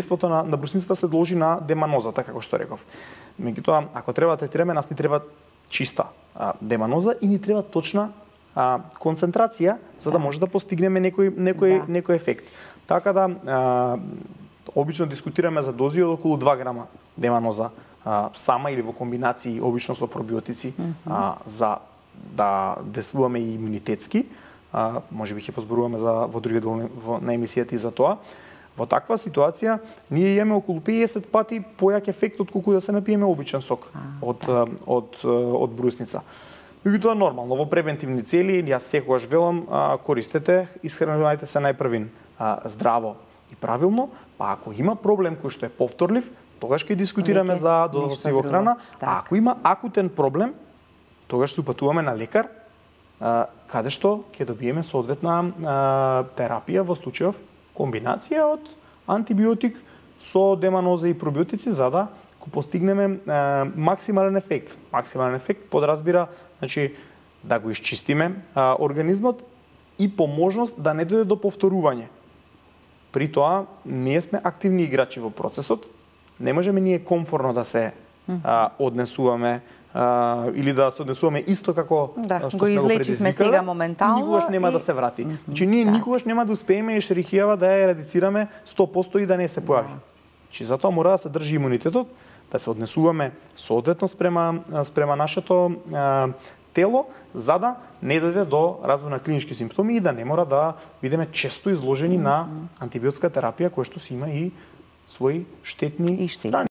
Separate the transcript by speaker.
Speaker 1: Еството на брусницата се должи на деманозата, како што реков. Меѓутоа, ако треба да третираме, нас ни треба чиста деманоза и ни треба точна концентрација за да може да постигнеме некој ефект. Така да обично дискутираме за дози од околу 2 грама деманоза сама или во комбинации обично со пробиотици за да действуваме и имунитетски. Можеби ќе позборуваме во други дел на емисијата и за тоа. Во таква ситуација ние имаме околу 50 пати појак ефект отколку да се напиеме обичен сок од брусница. Меѓутоа нормално во превентивни цели јас секогаш велам користете, исхранувајте се најпрвин здраво и правилно, па ако има проблем кој што е повторлив, тогаш ќе дискутираме за додатоци во храна, а ако има акутен проблем, тогаш се упатуваме на лекар каде што ќе добиеме соодветна терапија во случајов комбинација од антибиотик со деманоза и пробиотици за да го постигнеме максимален ефект. Максимален ефект подразбира значи да го исчистиме организмот и по можност да не дојде до повторување. При тоа ние сме активни играчи во процесот. Не можеме ние комфорно да се однесуваме или да се однесуваме исто како што
Speaker 2: го излечивме сега моментално.
Speaker 1: Никогаш нема да се врати. Значи ние никогаш нема да успееме Ешерихијава да ја ерадицираме 100% и да не се појави. Значи затоа мора да се држи имунитетот, да се однесуваме соодветно спрема нашето тело, за да не дојде до развој на клинички симптоми и да не мора да бидеме често изложени на антибиотска терапија која што си има и своји штетни страни.